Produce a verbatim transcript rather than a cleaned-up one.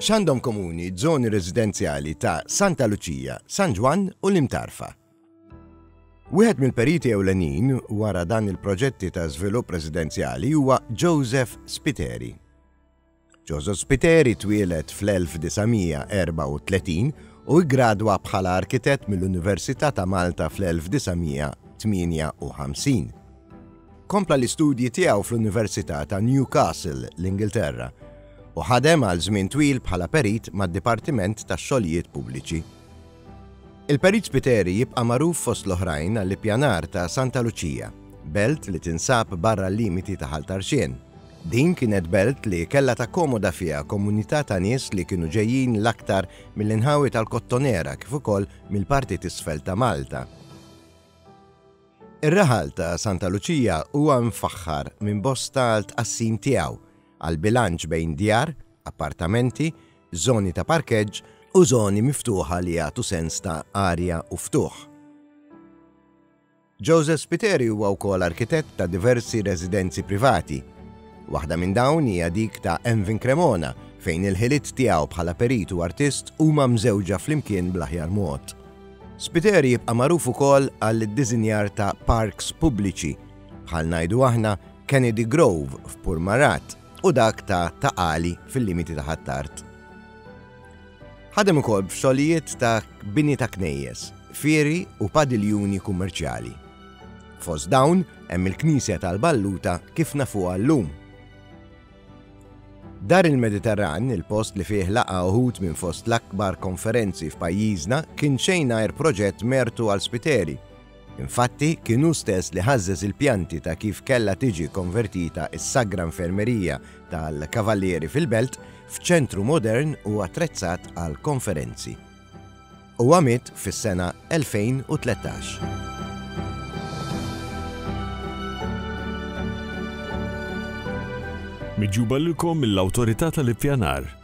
X'għandhom komuni żoni residenzjali ta' Santa Luċija, San Ġwann u l-Imtarfa? Wieħed mill-periti ewlenin wara dan il-proġetti ta' żvilupp residenzjali huwa Joseph Spiteri. Joseph Spiteri twieled fl-elf disa' mija erbgħa u tletin u ggradwa bħala arkitett mill-Università ta' Malta fl-elf disa' mija tmienja u ħamsin. Kompla l-istudji tiegħu fl-Università ta' Newcastle, l-Ingilterra, u ħadem għal żmien twil bħala perit mad-Dipartiment tax-Xogħlijiet Pubbliċi. Il-Perit Spiteri jibqa' magħruf fost l-oħrajn għall-ippjanar ta' Santa Luċija, belt li tinsab barra l-limiti ta' Ħal Tarxien. Din kienet belt li kellha takkomoda fiha komunità ta' nies li kienu ġejjin l-aktar mill-inħawi tal-Kottonera kif ukoll mill-parti t'isfel ta' Malta. Ir-raħal ta' Santa Luċija huwa mfaħħar minn bosta għal tqassim tiegħu għal bilanċ bejn djar, appartamenti, żoni ta' parkeġġ u żoni miftuħa li jagħtu sens ta' arja u ftuħ. Joseph Spiteri huwa wkoll arkitett ta' diversi residenzi privati. Waħda minn dawn hija dik ta' Emvin Cremona, fejn il-ħiliet tiegħu bħala perit u artist huma mżewġa flimkien bl-aħjar mod. Spiteri jibqa' magħruf ukoll għall-iddisinjar ta' parks pubbliċi, bħal ngħidu aħna Kennedy Grove f'Burmarrad u dak ta' Ta' Qali fil-limiti ta' Ħ'Attard. Ħadem ukoll b'xogħlijiet ta' bini ta' knejjes, fieri u padiljuni kummerċjali. Fost dawn hemm il-Knisja tal-Balluta kif nafuha llum. Dar il-Mediterran, il-post li fih laqa uħud minn fost l-akbar konferenzi f'pajjiżna, kien xejn għajr proġett mertu għal Spiteri. Infatti, kien hu stess li ħażżeż il-pjanti ta' kif kellha tiġi konvertita s-Sagra Infermerija tal-Kavallieri fil-Belt f'ċentru modern u attrezzat għal konferenzi. Huwa miet fis-sena elfejn u tlettax. Miġjuba lilkom mill-Awtorità tal-Ippjanar.